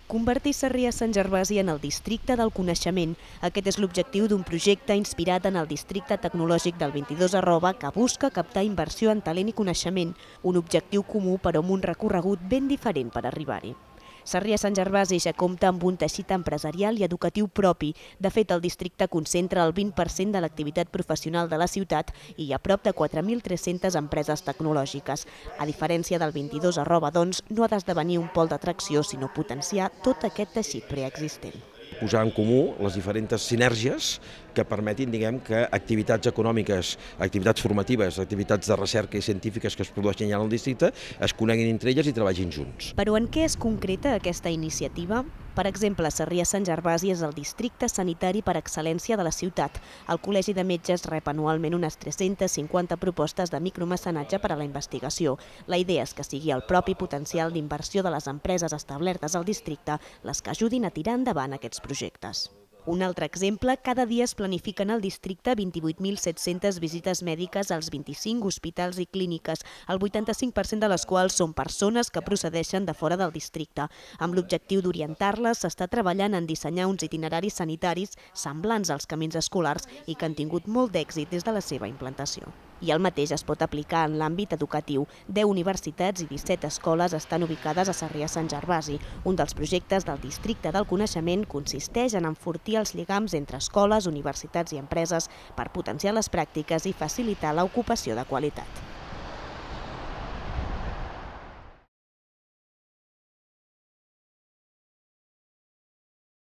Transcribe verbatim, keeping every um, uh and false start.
Convertir Sarrià-Sant Gervasi en el districte del coneixement. Aquest és l'objectiu d'un projecte inspirat en el districte tecnològic del vint-i-dos arroba que busca captar inversió en talent i coneixement, un objectiu comú però amb un recorregut ben diferent per arribar-hi. Sarrià-Sant Gervasi ja compta amb un teixit empresarial i educatiu propi. De fet, el districte concentra el vint per cent de l'activitat professional de la ciutat i hi ha prop de quatre mil tres-centes empreses tecnològiques. A diferència del vint-i-dos arroba, doncs, no ha d'esdevenir un pol d'atracció, sinó potenciar tot aquest teixit preexistent. Posar en comú les diferents sinergies que permetin, diguem, que activitats econòmiques, activitats formatives, activitats de recerca i científiques que es produeixen ja en el districte es coneguin entre elles i treballin junts. Però en què es concreta aquesta iniciativa? Per exemple, Sarrià-Sant Gervasi és el districte sanitari per excel·lència de la ciutat. El Col·legi de Metges rep anualment unes tres-centes cinquanta propostes de micromecenatge per a la investigació. La idea és que sigui el propi potencial d'inversió de les empreses establertes al districte les que ajudin a tirar endavant aquests projectes. Un altre exemple, cada dia es planifiquen al districte vint-i-vuit mil set-centes visites mèdiques als vint-i-cinc hospitals i clíniques, el vuitanta-cinc per cent de les quals són persones que procedeixen de fora del districte. Amb l'objectiu d'orientar-les, s'està treballant en dissenyar uns itineraris sanitaris semblants als camins escolars i que han tingut molt d'èxit des de la seva implantació. I el mateix es pot aplicar en l'àmbit educatiu. deu universitats i disset escoles estan ubicades a Sarrià-Sant Gervasi. Un dels projectes del districte del coneixement consisteix en enfortir els lligams entre escoles, universitats i empreses per potenciar les pràctiques i facilitar l'ocupació de qualitat.